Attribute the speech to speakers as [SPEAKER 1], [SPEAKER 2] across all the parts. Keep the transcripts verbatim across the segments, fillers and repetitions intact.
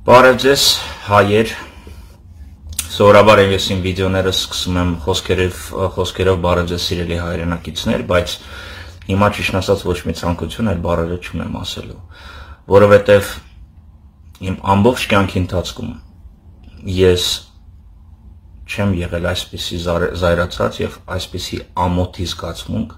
[SPEAKER 1] Բարև ձեզ հայեր, սովորաբար ես իմ վիդեոները սկսում եմ խոսքերով, խոսքերով բարև ձեզ սիրելի հայրենակիցներ, բայց հիմա ճիշտ ասած ոչ մի ցանկություն այլ բառերը չունեմ ասելու, որովհետև իմ ամբողջ կյանքի ընթացքում ես չեմ եղել այսպիսի զայրացած եւ այսպիսի ամոթի զգացմունք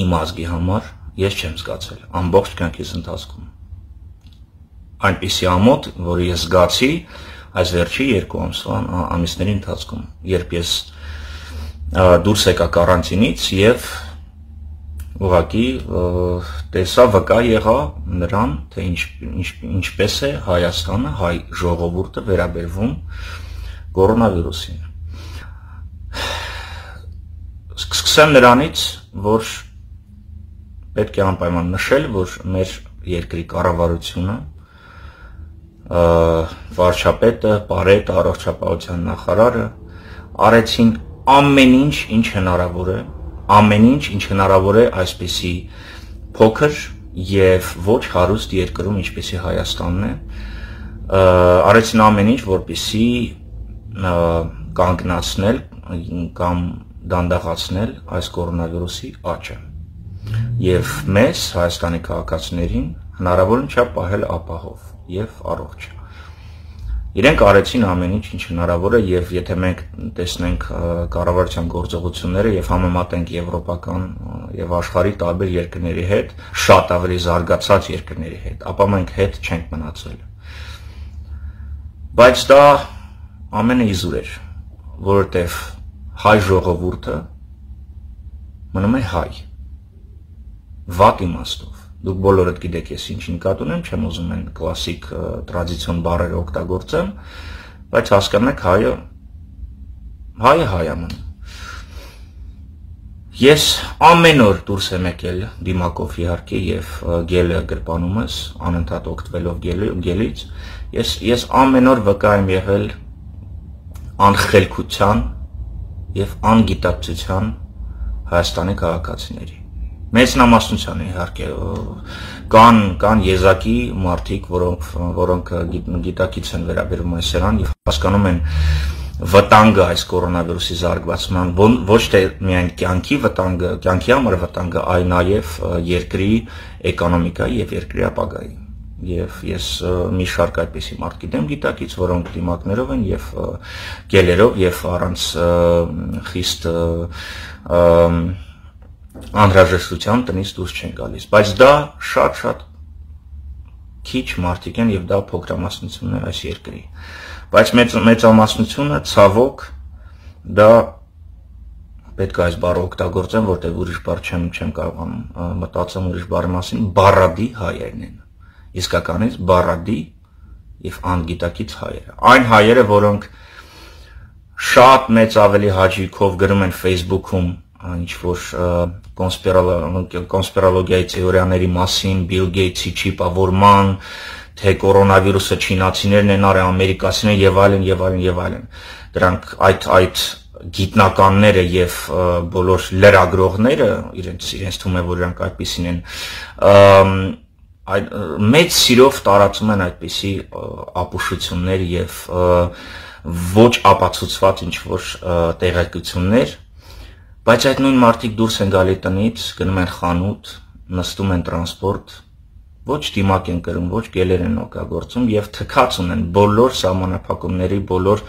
[SPEAKER 1] իմ ազգի համար ես չեմ զգացել ամբողջ կյանքիս ընթացքում այնպիսի ամոթ, որը ես զգացի այս վերջի երկու ամսվա ամիսների ընթացքում, երբ ես դուրս եկա կարանտինից եւ ուղղակի տեսա վկա եղա նրան, թե ինչ, ինչ, ինչպես է Հայաստանը, հայ ժողովուրդը վերաբերվում կորոնավիրուսին։ Սկսեմ նրանից, որ պետք է անպայման նշել, որ մեր երկրի կառավարությունը վարչապետը, Պարետը, առողջապահության նախարարը արեցին ամեն ինչ, ինչ հնարավոր է, ամեն ինչ, ինչ հնարավոր է այսպիսի փոքր եւ ոչ հարուստ երկրում, ինչպեսի Հայաստանն է, արեցին ամեն ինչ, որպեսզի կանգնացնել կամ դանդաղացնել այս կորոնավիրուսի աճը եւ մեզ Հայաստանի քաղաքացիներին հնարավորին չափ պահել ապահով եւ առողջ։ Իրենք արեցին ամեն ինչ, ինչ հնարավոր է եւ եթե մենք տեսնենք կառավարության գործողությունները եւ համեմատենք եվրոպական եւ աշխարհի տարբեր երկրների հետ, շատ ավելի զարգացած երկրների հետ, ապա մենք հետ չենք մնացել։ Բայց դա ամենը իզուր էր, որովհետեւ հայ ժողովուրդը մնում է հայ։ Վատ իմաստով։ Դուք բոլորդ գիտեք ես ինչ նկատի ունեմ, չեմ ուզում են կլասիկ տրադիցիոն բառերը օգտագործեմ, բայց հասկանաք հայը հայը հայ է մնում։ Ես ամեն օր դուրս եմ եկել դիմակով իհարկե եւ գելը գրպանումս, անընդհատ օգտվելով գելից, ես ես ամեն օր վկա եմ եղել անխելքության եւ անգիտակցության Հայաստանի քաղաքացիների։ Մեծնամասնության իհարկե կան կան եզակի մարդիկ, որոնք որոնք գիտակից են վերաբերում այս սերան եւ հասկանում են վտանգը այս կորոնավիրուսի զարգացման, ոչ թե միայն կյանքի վտանգը, կյանքի համար վտանգը, այլ նաեւ երկրի էկոնոմիկայի եւ երկրի ապագայի։ Եվ ես մի շարք այդպիսի մարդ գիտեմ գիտակից, որոնք դիմակներով են եւ գելերով եւ առանց խիստ անհրաժեշտության տնից դուրս չեն գալիս, բայց դա շատ-շատ քիչ մարդիկ են եւ դա փոքրամասնությունն է այս երկրի, բայց մեծ մեծամասնությունը ցավոք դա պետք է այս բառը օգտագործեմ, որտեղ ուրիշ բառ չեմ չեմ կարողանում մտածեմ ուրիշ բառի մասին, բառադի հայերն են, իսկականից բառադի եւ անգիտակից հայերը, այն հայերը, որոնք շատ մեծ ավելի հաճույքով գրում են Facebook-ում ինչ որ կոնսպիրոլոգիայի թեորիաների մասին, Բիլ Գեյթսի չիպավորման, թե կորոնավիրուսը չինացիներն են արել, ամերիկացիներն եւ այլն եւ այլն եւ այլն։ Դրանք այդ այդ գիտնականները եւ բոլոր լրագրողները, իրենց իրենց թվում է, որ դրանք այդպեսին են, այդ մեծ սիրով տարածում են այդպիսի ապուշություններ եւ ոչ ապացուցված ինչ որ տեղեկություններ, բայց այդ նույն մարդիկ դուրս են գալի տնից, գնում են խանութ, նստում են տրանսպորտ, ոչ դիմակ են կրում, ոչ գելեր են օգտագործում եւ թքած ունեն բոլոր սահմանափակումների, բոլոր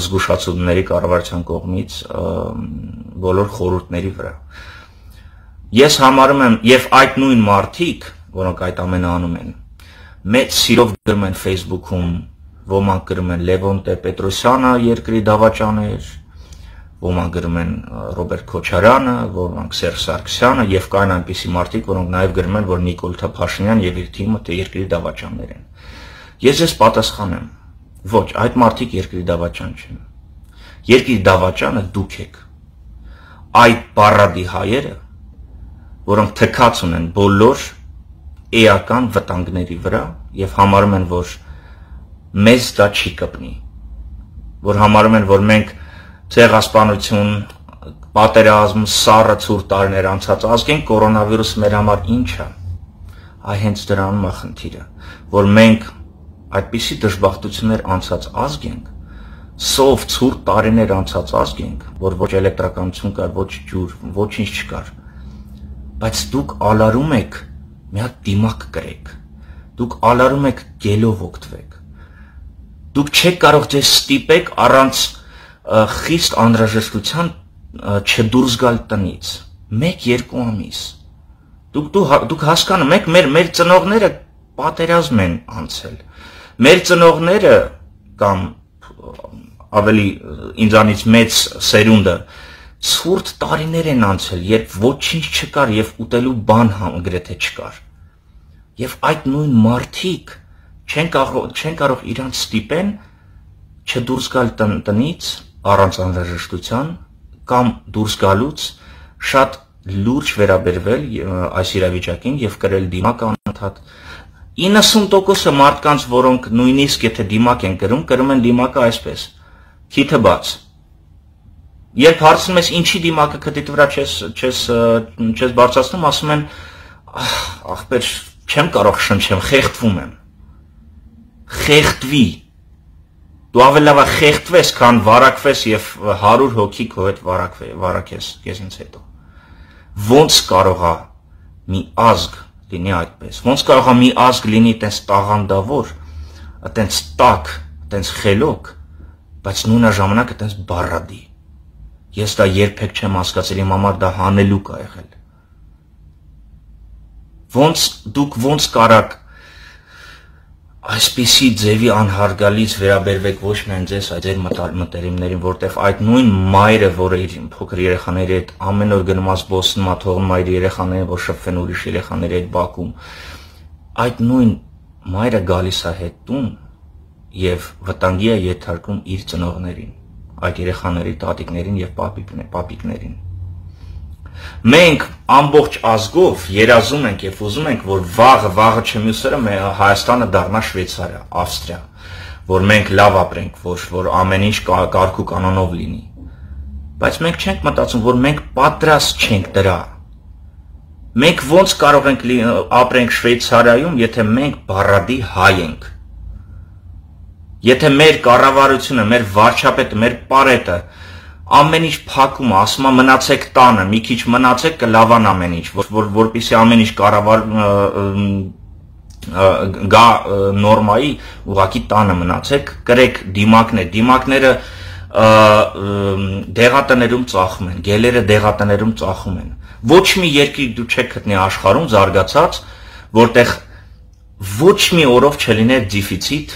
[SPEAKER 1] զգուշացումների կառավարության կողմից, բոլոր խորհուրդների վրա։ Ես համարում եմ եւ այդ նույն մարդիկ, որոնք այդ ամենը անում են, մեծ սիրով գրում են Facebook-ում, ոմանք գրում են Լևոն Տեր-Պետրոսյանը երկրի դավաճաներ, ոմանք գրում են Ռոբերտ Քոչարյանը, ոմանք Սերժ Սարգսյանը եւ կային այնպիսի մարդիկ, որոնք նաեւ գրում են, որ Նիկոլ Փաշինյան եւ իր թիմը թե երկրի դավաճաններ են։ Ես ես պատասխանեմ, ոչ, այդ մարդիկ երկրի դավաճան չեն։ Երկրի դավաճանը դուք եք։ Այդ բառադի հայերը, որոնք թքած ունեն բոլոր էական վտանգների վրա եւ համարում են, որ մեզ դա չի կպնի, որ համարում են, որ մենք ցեղասպանություն, պատերազմ, սառը ցուրտ տարիներ անցած ազգեն կորոնավիրուսը մեր համար ինչ է։ Այ հենց դրանում է խնդիրը, որ մենք այդպիսի դժբախտություններ անցած ազգ ենք, սով ցուրտ տարիներ անցած ազգ ենք, որ ոչ էլեկտրականություն կար, ոչ ջուր, ոչինչ չկար, բայց դուք ալարում եք մի հատ դիմակ կրեք, դուք ալարում եք գելով օգտվեք, դուք չեք կարող ձեզ ստիպեք առանց խիստ անհրաժեշտության չդուրս գալ տնից, մեկ երկու ամիս, դուք, դու, դուք հասկանում եք, մեր, մեր ծնողները պատերազմ են անցել, մեր ծնողները կամ ավելի ինձանից մեծ սերունդը ցուրտ տարիներ են անցել, երբ ոչինչ չկար եւ ուտելու բան գրեթե չկար, եւ այդ նույն մարդիկ չեն կարող, չեն կարող իրանց ստիպեն չդուրս գալ տնից առանց անհրաժեշտության կամ դուրս գալուց շատ լուրջ վերաբերվել այս իրավիճակին եւ կրել դիմակ անընդհատ իննսուն տոկոսը մարդկանց, որոնք նույնիսկ եթե դիմակ են կրում, կրում են դիմակը այսպես, քիթը բաց։ Երբ հարցնում ես ինչի դիմակը քթիդ վրա չես չես չես բարձրացնում, ասում են ախպեր, չեմ կարող շնչեմ, խեղդվում եմ։ Խեղդվի։ Դու ավելի լավ խեղդվես, քան վարակվես եւ հարյուր հոգի քո հետ վարակես քեզնից հետո։ Ոնց կարող է մի ազգ լինի այդպես։ Ոնց կարող է մի ազգ լինի այտենց տաղանդավոր, այտենց տաք, այտենց խելոք, բայց նույնաժամանակ այտենց բառադի։ Ես դա երբեք չեմ հասկացել, իմ համար դա հանելուկ է եղել։ Ոնց դուք ոնց կարաք այսպիսի ձևի անհարգալից վերաբերվեք ոչ միայն ձեզ, այլ ձեր մտերիմներին, որտեղ այդ նույն մայրը, որը իր փոքր երեխաների հետ ամեն օր գնում է զբոսնում, թողնում իր երեխաներին, որ շփվեն ուրիշ երեխաների հետ բակում, այդ նույն մայրը գալիս է հետ տուն եւ վտանգի է ենթարկում իր ծնողներին, այդ երեխաների տատիկներին եւ պապիկներին։ Մենք ամբողջ ազգով երազում ենք եւ ուզում ենք, որ վաղը, վաղը չմյուսերը Հայաստանը դառնա Շվեյցարիա, Ավստրիա, որ մենք լավ ապրենք, որ որ ամեն ինչ կարգու կանոնով լինի։ Բայց մենք չենք մտածում, որ մենք պատրաստ չենք դրա։ Մենք ոնց կարող ենք ապրենք Շվեյցարիայում, եթե մենք բառադի հայ ենք։ Եթե մեր կառավարությունը, մեր վարչապետը, մեր պարետը ամեն ինչ փակում է, ասում է մնացեք տանը, մի քիչ մնացեք կլավան ամեն ինչ, որ որպեսզի ամեն ինչ կառավար գա նորմայի, ուղղակի տանը մնացեք, կրեք դիմակներ, դիմակները դեղատներում ծախում են, գելերը դեղատներում ծախում են։ Ոչ մի երկիր դու չեք գտնի աշխարհում զարգացած, որտեղ ոչ մի օրով չլիներ դեֆիցիտ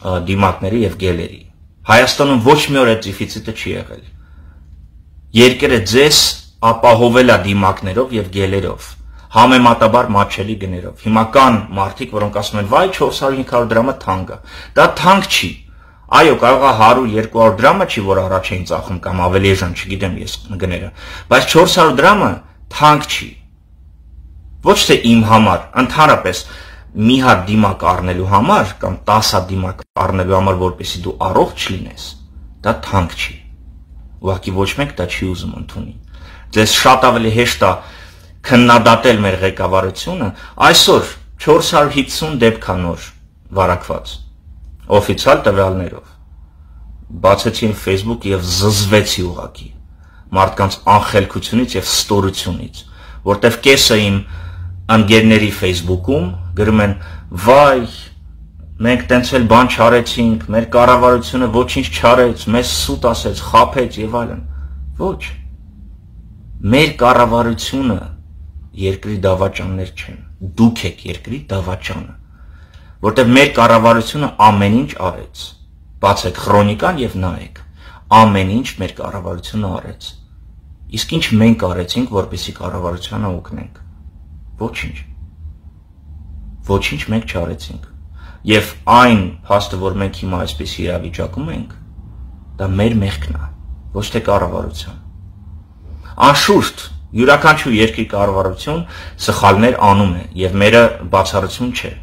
[SPEAKER 1] դիմակների եւ գելերի։ Հայաստանում ոչ մի օր այդ դեֆիցիտը չի եղել։ Երկրը ձեզ ապահովել է դիմակներով եւ գելերով, համեմատաբար մատչելի գներով։ Հիմա կան մարդիկ, որոնք ասում են, վայ չորս հարյուր հինգ հարյուր դրամը թանկ է։ Դա թանկ չի։ Այո, կարող է հարյուր երկու հարյուր դրամը չի, որ առաջ էին ծախում կամ ավելի էժան, չգիտեմ ես գները, բայց չորս հարյուր դրամը թանկ չի։ Ոչ թե իմ համար, ընդհանրապես մի հատ դիմակ առնելու համար կամ տասը հատ դիմակ առնելու համար, որպեսզի դու առողջ լինես, դա թանկ չի։ Ուղղակի ոչ մեկ դա չի ուզում ընդունի։ Ձեզ շատ ավելի հեշտ է քննադատել մեր ղեկավարությունը, այսօր չորս հարյուր հիսուն դեպք է նոր վարակված օֆիցիալ տվյալներով։ Բացեցին Facebook եւ զզվեցի ուղղակի մարդկանց անխելքությունից եւ ստորությունից, որտեվ կեսը իմ ընկերների Facebook-ում գրում են, վայ, մենք տենց էլ բան չարեցինք, մեր կառավարությունը ոչինչ չարեց, մեզ սուտ ասեց, խաբեց եւ այլն։ Ոչ։ Մեր կառավարությունը երկրի դավաճաններ չեն։ Դուք եք երկրի դավաճանը, որտեղ մեր կառավարությունը ամեն ինչ արեց։ Բացեք քրոնիկան եւ նայեք։ Ամեն ինչ մեր կառավարությունը արեց։ Իսկ ինչ մենք արեցինք, որպեսզի կառավարությանը օգնենք։ Ոչինչ։ Ոչինչ մենք չարեցինք։ Եվ այն փաստը, որ մենք հիմա այսպես իրավիճակում ենք, դա մեր մեղքն է, ոչ թե կառավարության։ Անշուշտ, յուրաքանչյուր երկրի կառավարություն սխալներ անում է եւ մերը բացառություն չէ։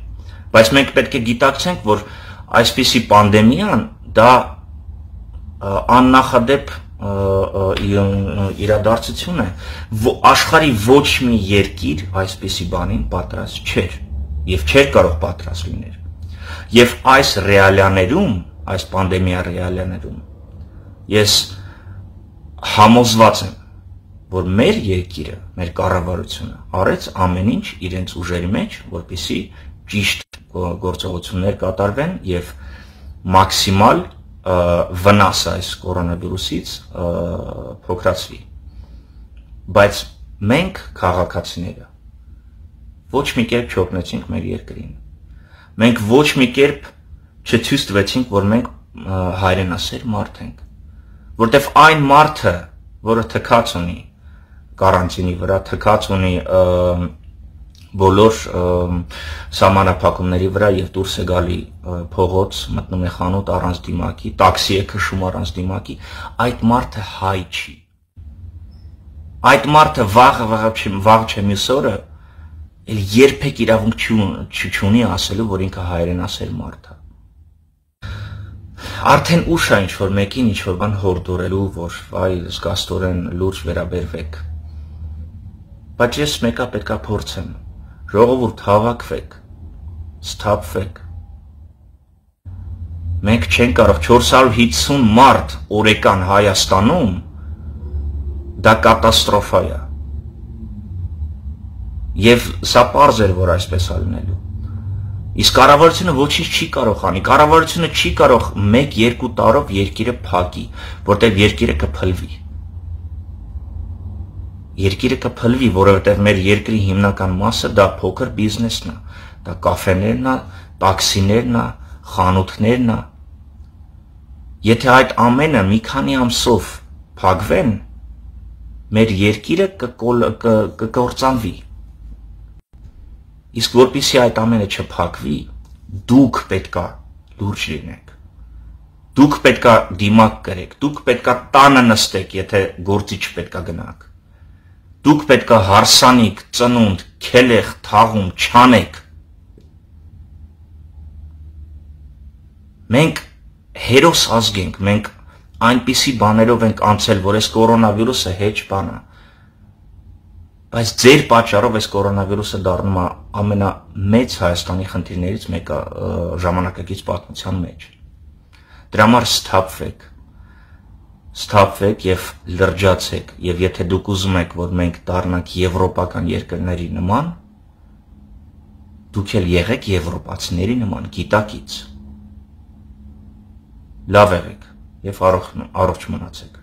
[SPEAKER 1] Բայց մենք պետք է գիտակցենք, որ այսպիսի պանդեմիան դա աննախադեպ իրադարձություն է, աշխարհի ոչ մի երկիր այսպիսի բանին պատրաստ չէր եւ չէր կարող պատրաստ լինել։ Եվ այս ռեալիաներում, այս պանդեմիա ռեալիաներում, ես համոզված եմ, որ մեր երկիրը, մեր կառավարությունը արեց ամեն ինչ իրենց ուժերի մեջ, որպեսզի ճիշտ գործողություններ կատարվեն եւ մաքսիմալ վնասը այս կորոնավիրուսից փոքրացվի։ Բայց մենք քաղաքացիները ոչ մի կերպ չօգնեցինք մեր երկրին։ Մենք ոչ մի կերպ չցույց տվեցինք, որ մենք հայրենասեր մարդ ենք, որտեվ այն մարդը, որը թքած ունի կարանտինի վրա, թքած ունի բոլոր սահմանափակումների վրա եւ դուրս է գալի փողոց, մտնում է խանութ առանց դիմակի, տաքսի է քշում առանց դիմակի, այդ մարդը հայ չի։ Այդ մարդը վաղը վաղ չէ մյուս օրը էլ երբեք իրավունք չունի ասելու, որ ինքը հայրենասեր մարդ է։ Արդեն ուշ է ինչ-որ մեկին ինչ-որ բան հորդորելու, որ այ զգաստորեն լուրջ վերաբերվեք։ Բայց ես մեկը պետքա փորձեմ, ժողովուրդ հավաքվեք, սթափվեք։ Մենք չենք կարող չորս հարյուր հիսուն մարդ օրեկան Հայաստանում, դա կատաստրոֆա է։ Եվ սա պարզ էր, որ այսպես է լինելու։ Իսկ կառավարությունը ոչինչ չի կարող անի, կառավարությունը չի կարող մեկ-երկու տարով երկիրը փակի, որտեղ երկիրը կփլվի։ Երկիրը կփլվի, որովհետև մեր երկրի հիմնական մասը դա փոքր բիզնեսն է, դա կաֆեներն է, տաքսիներն է, խանութներն է։ Եթե այդ ամենը մի քանի ամսով փակվեն, մեր երկիրը կկործանվի։ Իսկ որպեսզի այդ ամենը չփակվի, դուք պետքա լուրջ լինեք։ Դուք պետքա դիմակ կրեք, դուք պետքա տանը նստեք, եթե գործի չպետքա գնաք։ Դուք պետքա հարսանիք, ծնունդ, քելեղ, թաղում չանեք։ Մենք հերոս ազգ ենք, մենք այնպիսի բաներով ենք անցել, որ այս կորոնավիրուսը հեչ բան է։ Բայց ձեր պատճառով այս կորոնավիրուսը դառնում է ամենամեծ Հայաստանի խնդիրներից մեկը ժամանակակից պատմության մեջ։ Դրա համար սթափվեք, սթափվեք եւ լրջացեք, եւ եթե դուք ուզում եք, որ մենք դառնանք եվրոպական երկրների նման, դուք էլ եղեք եվրոպացիների նման գիտակից։ Լավ եղեք եւ առողջ մնացեք։